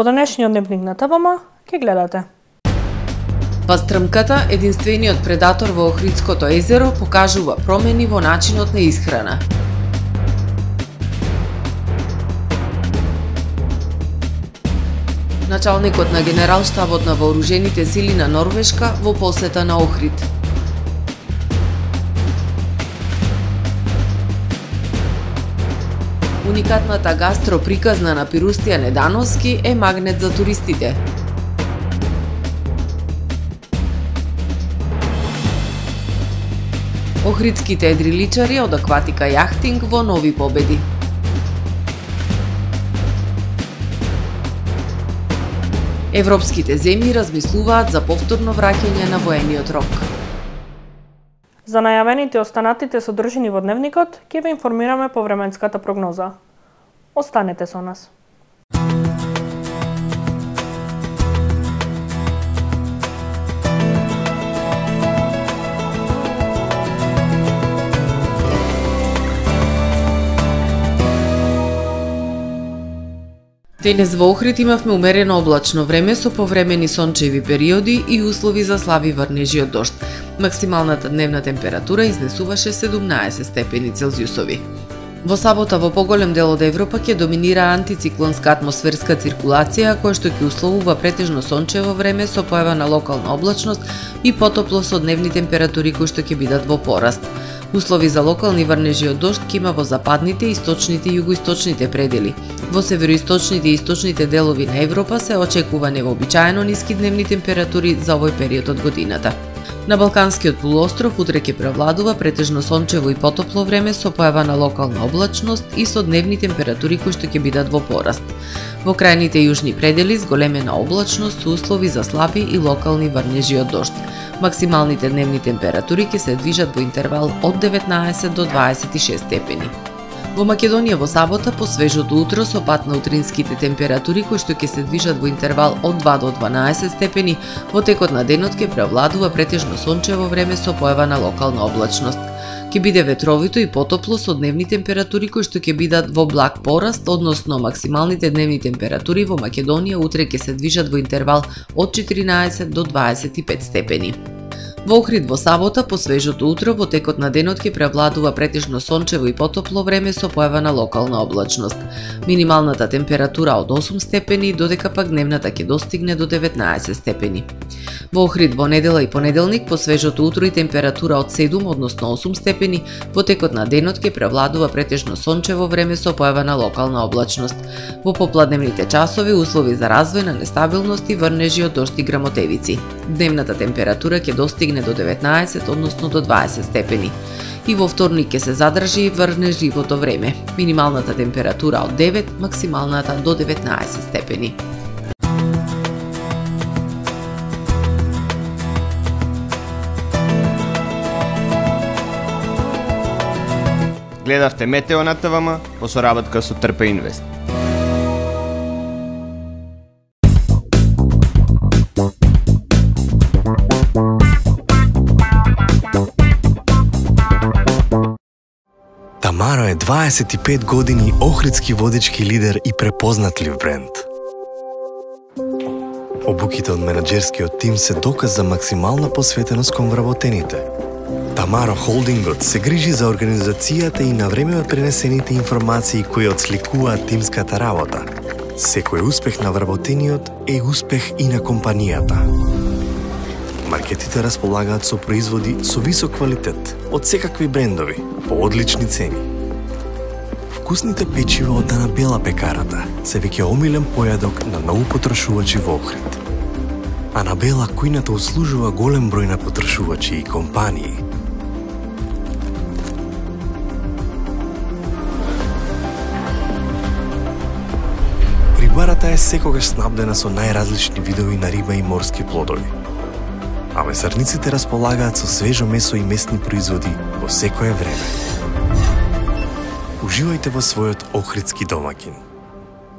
Во денешниот дневник на ТВМ ќе гледате. Пастрмката, единствениот предатор во Охридското езеро, покажува промени во начинот на исхрана. Началникот на Генералштабот на вооружените сили на Норвешка во посета на Охрид. Уникатната гастроприказна на Пирустија Недановски е магнет за туристите. Охридските едриличари од акватика јахтинг во нови победи. Европските земји размислуваат за повторно враќање на воениот рок. За најавените и останатите содржини во дневникот ќе ве информираме по временската прогноза. Останете со нас. Денес во Охрид имавме умерено облачно време со повремени сончеви периоди и услови за слаби врнежи од дожд. Максималната дневна температура изнесуваше 17 степени Целзиусови. Во сабота во поголем дел од Европа ќе доминира антициклонска атмосферска циркулација, која што ќе условува претежно сончево време со појава на локална облачност и потопло со дневни температури кои што ќе бидат во пораст. Услови за локални врнежи од дожд ќе има во западните, источните и југоисточните предели. Во североисточните и источните делови на Европа се очекува невообичаено ниски дневни температури за овој период од годината. На Балканскиот полуостров утре ќе превладува претежно сончево и потопло време со појава на локална облачност и со дневни температури кои што ќе бидат во пораст. Во крајните јужни предели зголемена облачност со услови за слаби и локални врнежи од дожд. Максималните дневни температури ќе се движат во интервал од 19 до 26 степени. Во Македонија во сабота по свежото утро со пат на утринските температури кои што ќе се движат во интервал од 2 до 12 степени, во текот на денот ќе превладува претежно сончево време со појава на локална облачност. Ќе биде ветровито и потопло со дневни температури кои што ќе бидат во благ пораст, односно максималните дневни температури во Македонија утре ќе се движат во интервал од 14 до 25 степени. Во Охрид во сабота по свежото утро во текот на денот ќе превладува претежно сончево и потопло време со појава на локална облачност. Минималната температура од 8 степени, додека пак дневната ќе достигне до 19 степени. Во Охрид во недела и понеделник по свежото утро и температура од 7, односно 8 степени, во текот на денот ќе превладува претежно сончево време со појава на локална облачност. Во попладневните часови услови за развој на нестабилност и врнежи од дожд и грамотевици. Дневната температура ќе достигне до 19, односно до 20 степени. И во вторник ќе се задржи врнежливото време. Минималната температура од 9, максималната до 19 степени. Гледавте Метео на ТВМ по соработка со Трпе Инвест. Тамаро е 25 години охридски водички лидер и препознатлив бренд. Обуките од менаџерскиот тим се доказ за максимална посветеност кон вработените. Тамаро Холдингот се грижи за организацијата и на време пренесените информации кои отсликуваат тимската работа. Секој успех на вработениот е успех и на компанијата. Маркетите располагаат со производи со висок квалитет од секакви брендови по одлични цени. Вкусните печива од Анабела пекарата се веќе омилен појадок на многу потрошувачи во Охрид. Анабела кујната услужува голем број на потрошувачи и компании. Рибарата е секогаш снабдена со најразлични видови на риба и морски плодови. А месарниците располагаат со свежо месо и месни производи во секое време. Уживајте во својот охридски домаќин.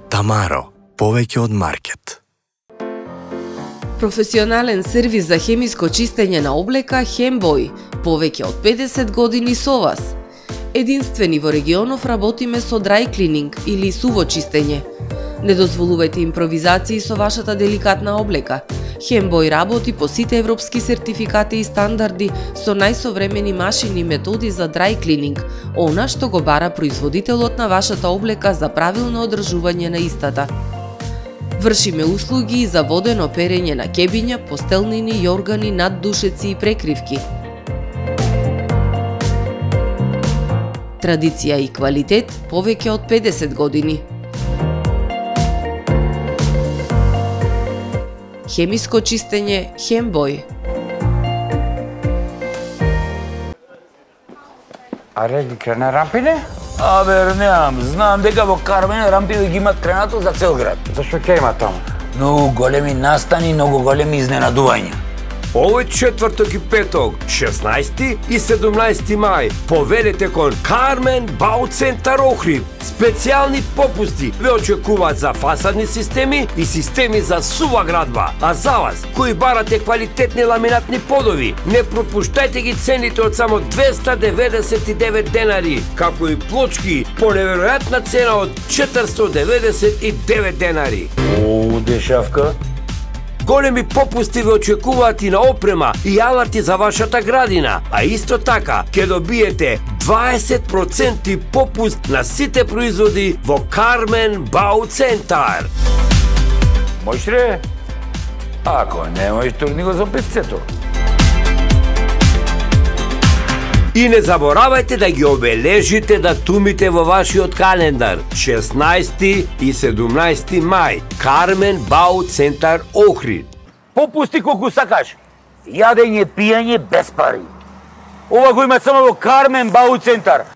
Тамаро, повеќе од маркет. Професионален сервис за хемиско чистење на облека Хембој, повеќе од 50 години со вас. Единствени во регионов работиме со dry cleaning или суво чистење. Не дозволувајте импровизации со вашата деликатна облека. Хембој работи по сите европски сертификати и стандарди со најсовремени машини и методи за dry cleaning, она што го бара производителот на вашата облека за правилно одржување на истата. Вршиме услуги и за водено перење на кебиња, постелнини, јоргани, наддушеци и прекривки. Традиција и квалитет повеќе од 50 години. Хемиско чистење Хембој. Аре, ги крена рампине? Абе, немам. Знам дека во Кармен рампи ги имат кренато за цел град. Зашто ќе има таму? Многу големи настани, многу големи изненадувања. Овој четврток и петок, 16 и 17 мај, поведете кон Кармен Бауцентар Охрид. Специјални попусти ве очекуваат за фасадни системи и системи за сува градба. А за вас, кои барате квалитетни ламинатни подови, не пропуштајте ги цените од само 299 денари, како и плочки по неверојатна цена од 499 денари. О, дешавка. Големи попусти ве очекуваат и на опрема и алати за вашата градина, а исто така ќе добиете 20% попуст на сите производи во Кармен Бауцентар. Можеш ли? Ако не можеш, турни го за певцето. И не заборавајте да ги обележите датумите во вашиот календар. 16 и 17 мај. Кармен Бауцентар Охрид. Попусти колку сакаш. Јадење, пиење без пари. Ова го има само во Кармен Бауцентар.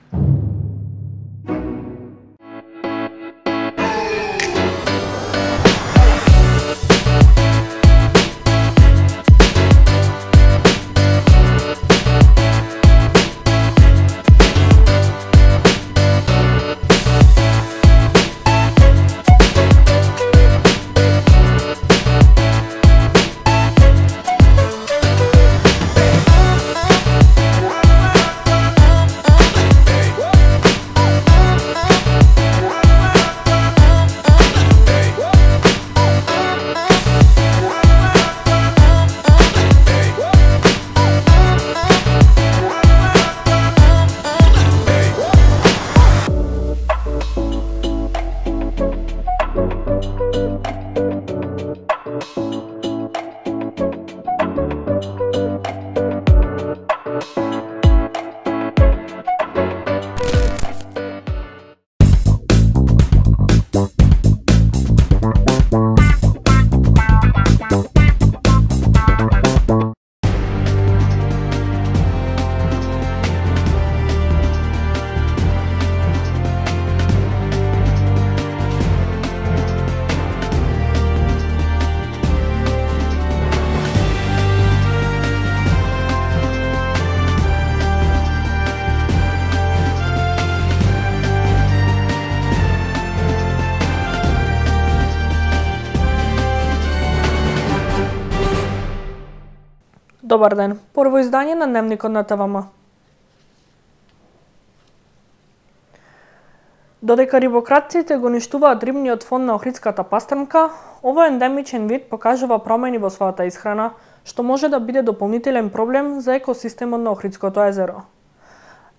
Добар ден, прво издание на Дневникот на ТВМ. Додека рибократците го уништуваат рибниот фонд на Охридската пастрмка, овој ендемичен вид покажува промени во својата исхрана, што може да биде дополнителен проблем за екосистемот на Охридското езеро.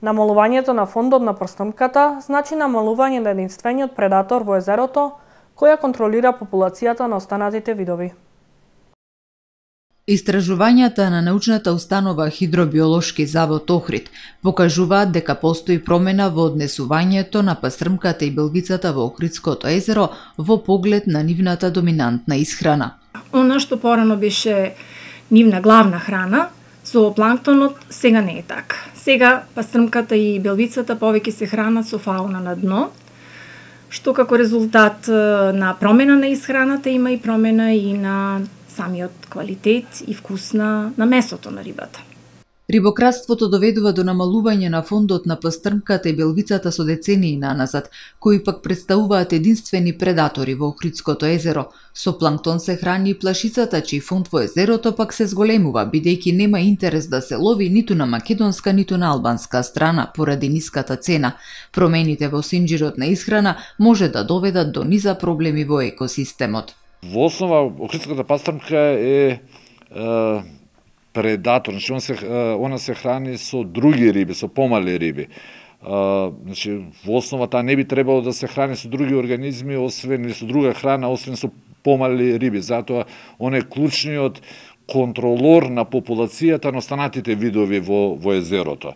Намалувањето на фондот на пастрмката значи намалување на единствениот предатор во езерото, која контролира популацијата на останатите видови. Истражувањата на научната установа Хидробиолошки завод Охрид покажуваат дека постои промена во однесувањето на пастрмката и белвицата во Охридското езеро во поглед на нивната доминантна исхрана. Она што порано беше нивна главна храна, зоопланктонот, сега не е така. Сега пастрмката и белвицата повеќе се хранат со фауна на дно, што како резултат на промена на исхраната има и промена и на самиот квалитет и вкус на месото на рибата. Рибократството доведува до намалување на фондот на пастрмката и белвицата со децении наназад, кои пак представуваат единствени предатори во Охридското езеро. Со планктон се храни и плашицата, чиј фонд во езерото пак се зголемува, бидејќи нема интерес да се лови ниту на македонска, ниту на албанска страна, поради ниската цена. Промените во синџирот на исхрана може да доведат до низа проблеми во екосистемот. Во основа, охридската пастрмка е предатор, значи она се храни со други риби, со помали риби. Значи во основа таа не би требало да се храни со други организми, освен или со друга храна, освен со помали риби. Затоа он е клучниот контролор на популацијата на останатите видови во езерото.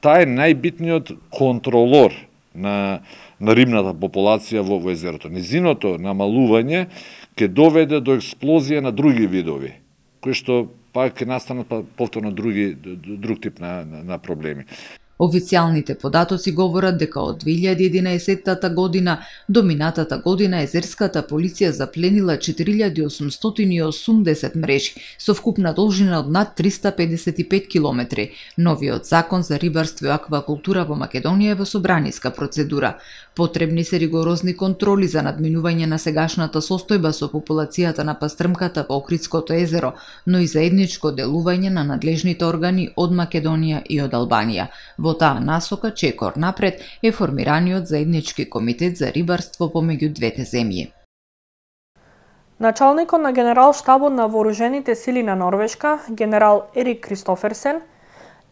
Таа е најбитниот контролор на рибната популација во езерото. Низиното намалување ќе доведе до експлозија на други видови, кои што пак ќе настанат повторно друг тип на проблеми. Официјалните податоци говорат дека од 2011 година до минатата година езерската полиција запленила 4880 мрежи со вкупна должина од над 355 километри. Новиот закон за рибарство и аквакултура во Македонија е во собраниска процедура. Потребни се ригорозни контроли за надминување на сегашната состојба со популацијата на пастрмката во Охридското езеро, но и заедничко делување на надлежните органи од Македонија и од Албанија. Во таа насока чекор напред е формираниот заеднички комитет за рибарство помеѓу двете земји. Началникот на генерал-штабот на вооружените сили на Норвешка, генерал Ерик Кристоферсен,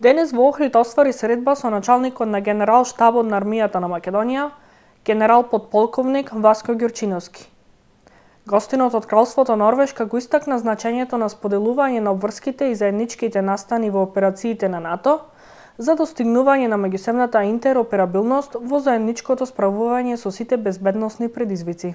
денес во Охрид оствари средба со началникот на генерал-штабот на армијата на Македонија, генерал подполковник Васко Ѓурчиновски. Гостинот од Кралството Норвешка го истакна значењето на споделување на обврските и заедничките настани во операциите на НАТО за достигнување на меѓусебната интероперабилност во заедничкото справување со сите безбедносни предизвици.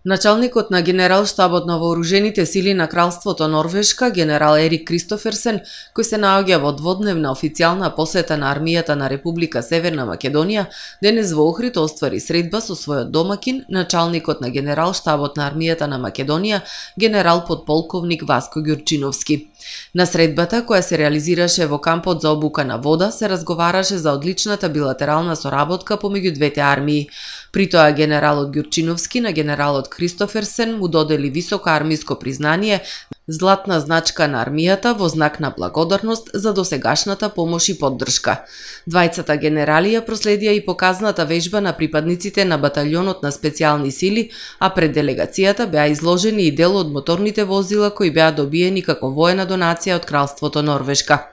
Началникот на генерал-штабот на вооружените сили на Кралството Норвешка, генерал Ерик Кристоферсен, кој се наоѓа во дводневна официјална посета на армијата на Република Северна Македонија, денес во Охрид оствари средба со својот домакин, началникот на генерал-штабот на армијата на Македонија, генерал подполковник Васко Ѓурчиновски. На средбата, која се реализираше во кампот за обука на вода, се разговараше за одличната билатерална соработка помеѓу двете армии. При тоа генералот Ѓурчиновски на генералот Кристоферсен му додели високо армиско признание, златна значка на армијата во знак на благодарност за досегашната помош и поддршка. Двајцата генерали ја проследија и показната вежба на припадниците на баталјонот на специјални сили, а пред делегацијата беа изложени и дел од моторните возила кои беа добиени како воена донација од Кралството Норвешка.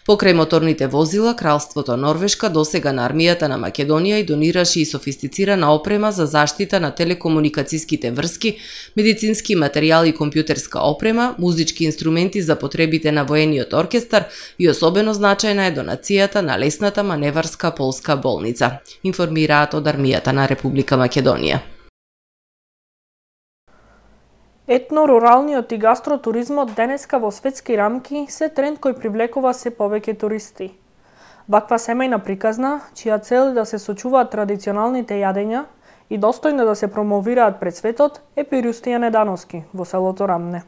Покрај моторните возила, Кралството Норвешка досега на армијата на Македонија и донираше и софистицирана опрема за заштита на телекомуникацијските врски, медицински материјали и компјутерска опрема, музички инструменти за потребите на воениот оркестар и особено значајна е донацијата на лесната маневарска полска болница, информираат од армијата на Република Македонија. Етно-руралниот и гастротуризмот денеска во светски рамки се тренд кој привлекува се повеќе туристи. Ваква семејна приказна, чија цел е да се сочуваат традиционалните јадења и достојно да се промовираат пред светот, е Пирустија Недановски во селото Рамне.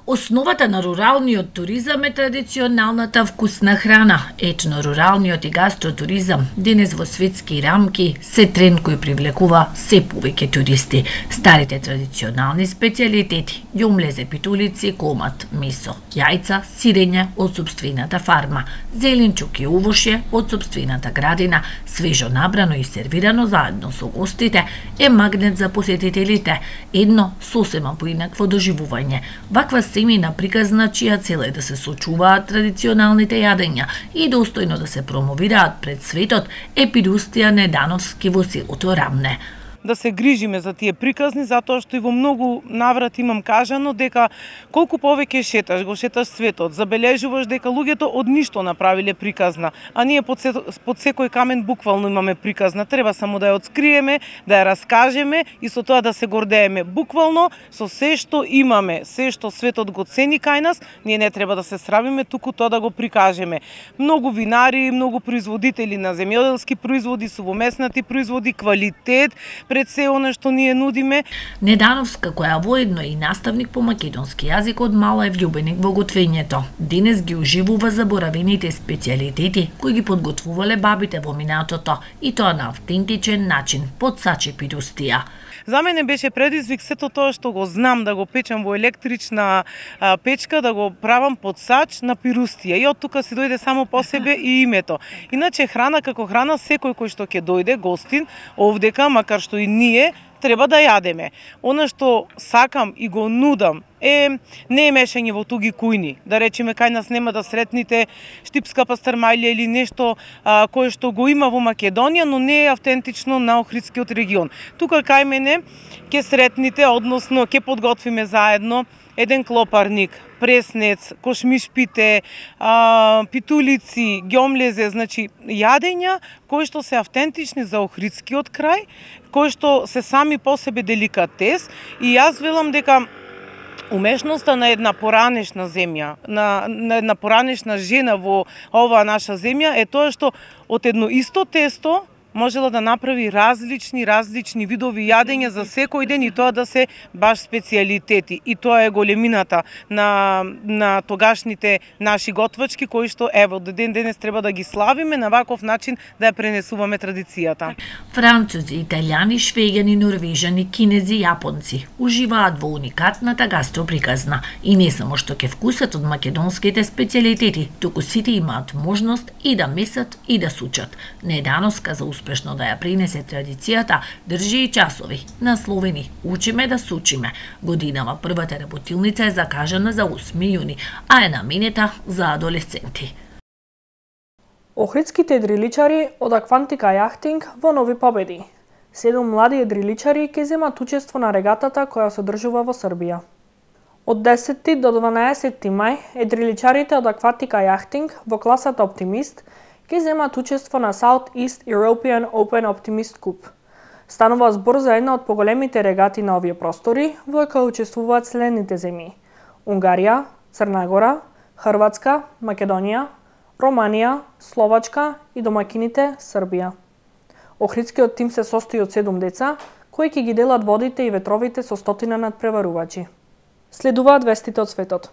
Основата на руралниот туризам е традиционалната вкусна храна. Етно-руралниот и гастротуризам денес во светски рамки се тренд кој привлекува се повеќе туристи. Старите традиционални специјалитети, ѓумлезе, питулици, комат, месо, јајца, сирење од сопствената фарма, зеленчук и увошје од сопствената градина, свежо набрано и сервирано заедно со гостите, е магнет за посетителите, едно сосема поинакво доживување. Ваква семејна приказна чија цел е да се сочуваат традиционалните јадења и достојно да се промовираат пред светот, е Пирустија Недановски во селото Рамне. Да се грижиме за тие приказни, затоа што и во многу наврати имам кажано дека колку повеќе шеташ, го шеташ светот, забележуваш дека луѓето од ништо направиле приказна, а ние под секој камен буквално имаме приказна. Треба само да ја отскриеме, да ја раскажеме и со тоа да се гордееме. Буквално со се што имаме, се што светот го цени кај нас, ние не треба да се срамиме, туку тоа да го прикажеме. Многу винари, многу производители на земјоделски производи, сувомеснати производи, квалитет, пред се она што ние нудиме. Недановска, која воедно е и наставник по македонски јазик од мала е влюбеник во готвењето. Денес ги уживува заборавените специјалитети кои ги подготвувале бабите во минатото и тоа на автентичен начин, под сачи пирустија. За мене беше предизвик сето тоа што го знам да го печам во електрична печка, да го правам под сач на пирустија. И од тука се дојде само по себе и името. Иначе храна како храна, секој кој што ќе дојде гостин овдека, макар што и ние треба да јадеме. Она што сакам и го нудам не е мешање во туги кујни. Да речеме, кај нас нема да сретните штипска пастрмајлија или нешто кое што го има во Македонија, но не е автентично на Охридскиот регион. Тука кај мене ќе сретните, односно ќе подготвиме заедно еден клопарник, преснец, кошмишпите, питулици, ѓомлезе, значи јадења кои што се автентични за Охридскиот крај, кои што се сами по себе деликатес, и јас велам дека умешноста на една поранешна земја, на една поранешна жена во оваа наша земја е тоа што од едно исто тесто можела да направи различни видови јадења за секој ден и тоа да се баш специјалитети. И тоа е големината на тогашните наши готвачки кои што ево до ден денес треба да ги славиме на ваков начин да ја пренесуваме традицијата. Французи, италијани, швеѓани, норвежани, кинези, јапонци уживаат во уникатната гастроприказна и не само што ќе вкусат од македонските специјалитети, туку сите имаат можност и да месат и да сучат. Недановска за успешно да ја принесе традицијата, држи и часови, насловени "Учиме да сучиме". Годинава првата работилница е закажана за 8 јуни, а е наменета за адолесценти. Охридските едриличари од Аквантика јахтинг во нови победи. 7 млади едриличари ќе земат учество на регатата која се одржува во Србија. Од 10 до 12 мај, едриличарите од Аквантика јахтинг во класата Оптимист ќе земат учество на South East European Open Optimist Cup. Станува збор за една од поголемите регати на овие простори, во која учествуваат следните земји: Унгарија, Црна Гора, Хрватска, Македонија, Романија, Словачка и домакините Србија. Охридскиот тим се состои од 7 деца, кои ќе ги делат водите и ветровите со 100 надпреварувачи. Следуваат вестите од светот.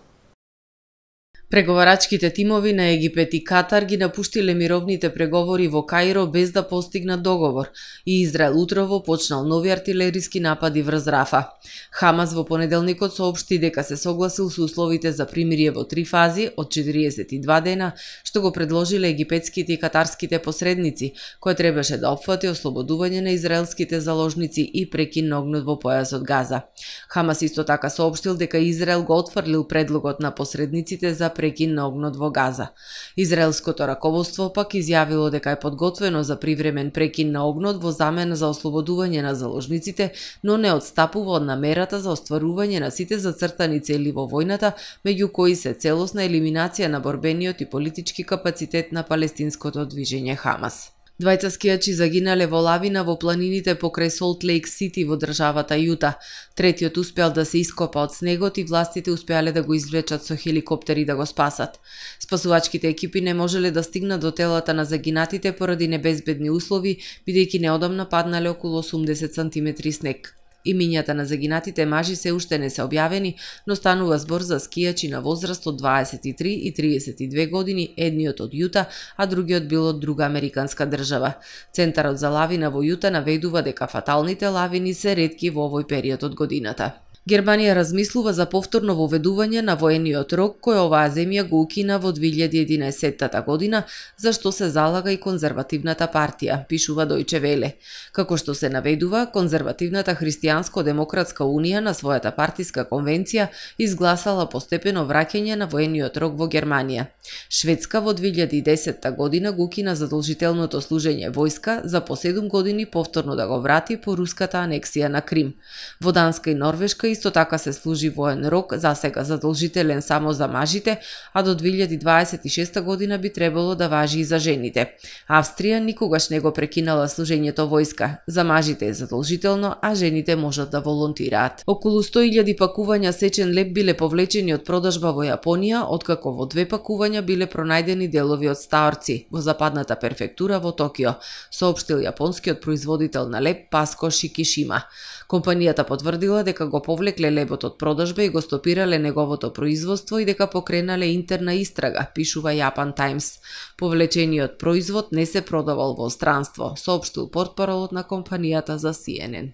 Преговарачките тимови на Египет и Катар ги напуштиле мировните преговори во Каиро без да постигнат договор и Израел утрово почнал нови артилериски напади врз Рафа. Хамас во понеделникот соопшти дека се согласил со условите за примирие во 3 фази од 42 дена, што го предложиле египетските и катарските посредници, кој требаше да опфати ослободување на израелските заложници и прекин на огнот во појасот Газа. Хамас исто така соопштил дека Израел го отфрлил предлогот на посредниците за прекин на огнот во Газа. Израелското раководство пак изјавило дека е подготвено за привремен прекин на огнот во замена за ослободување на заложниците, но не отстапува од намерата за остварување на сите зацртани цели во војната, меѓу кои се целосна елиминација на борбениот и политички капацитет на палестинското движење Хамас. Двајца скијачи загинале во лавина во планините покрај Солт Лейк Сити во државата Јута. Третиот успеал да се ископа од снегот и властите успеале да го извлечат со хеликоптери да го спасат. Спасувачките екипи не можеле да стигнат до телата на загинатите поради небезбедни услови, бидејќи неодамна паднале околу 80 сантиметри снег. Имињата на загинатите мажи се уште не се објавени, но станува збор за скијачи на возраст од 23 и 32 години, едниот од Јута, а другиот бил од друга американска држава. Центарот за лавина во Јута наведува дека фаталните лавини се ретки во овој период од годината. Германија размислува за повторно воведување на воениот рок кој оваа земја го укина во 2011 година, за што се залага и конзервативната партија, пишува Дојче Веле. Како што се наведува, конзервативната Христијанско-демократска унија на својата партиска конвенција изгласала постепено враќање на воениот рок во Германија. Шведска во 2010 година го укина задолжителното служење војска за по 7 години повторно да го врати по руската анексија на Крим. Во Данска и Норвешка исто така се служи воен рок, засега задолжителен само за мажите, а до 2026 година би требало да важи и за жените. Австрија никогаш не го прекинала служењето војска. За мажите е задолжително, а жените можат да волонтираат. Околу 100.000 пакувања сечен леп биле повлечени од продажба во Јапонија, откако во 2 пакувања биле пронајдени делови од стаорци во западната префектура во Токио, соопштил јапонскиот производител на леп Паско Шикишима. Компанијата потврдила дека го повлекле лебот од продажба и го стопирале неговото производство и дека покренале интерна истрага, пишува Japan Times. Повлечениот производ не се продавал во странство, соопштил портпаролот на компанијата за CNN.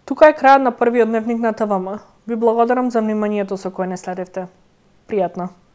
Тука е крајот на првиот дневник на ТВМ. Ви благодарам за вниманието со кое не следевте. Пријатно!